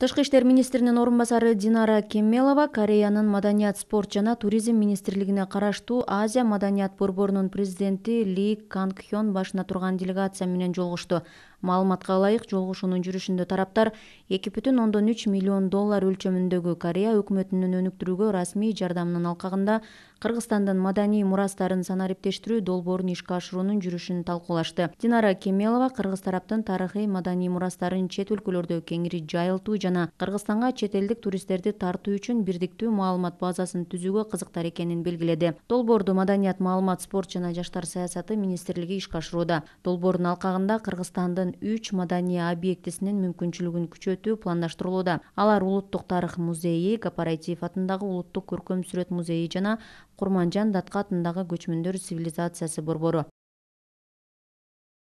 Тышкы иштер министринин орун басары Динара Кемелова Кореянын маданият, спорт жана туризм министрлигине караштуу Азия маданият борборунун президенти Ли Канг Хён башына турган делегация менен жолугушту. Маалыматка ылайык, жолугушуунун жүрүшүндө тараптар $2,3 миллион өлчөмүндөгү Корея өкмөтүнүн өнүктүрүүгө расмий жардамынын алкагында Кыргызстандын маданий мурастарын санариптештирүү долбоорун ишке ашыруунун жүрүшүн талкуулашты. Динара Кемелова кыргыз тараптын тарыхый маданий мурастарын чет өлкөлөрдө кеңири жайылтуу жана Кыргызстанга чет элдик туристтерди тартуу үчүн бирдиктүү маалымат базасын түзүүгө кызыктар экенин белгиледи. Долбоорду Маданият, маалымат, спорт жана жаштар саясаты министрлиги ишке ашырууда. Долбоордун алкагында Кыргызстандын 3 маданий объектисинин мүмкүнчүлүгүн күчөтүү пландаштырылууда. Алар Улуттук тарых музейи, Кооператив атындагы Улуттук көркөм сүрөт музейи жана Курманжан Датка атындагы Көчмөндөр цивилизациясы борбору.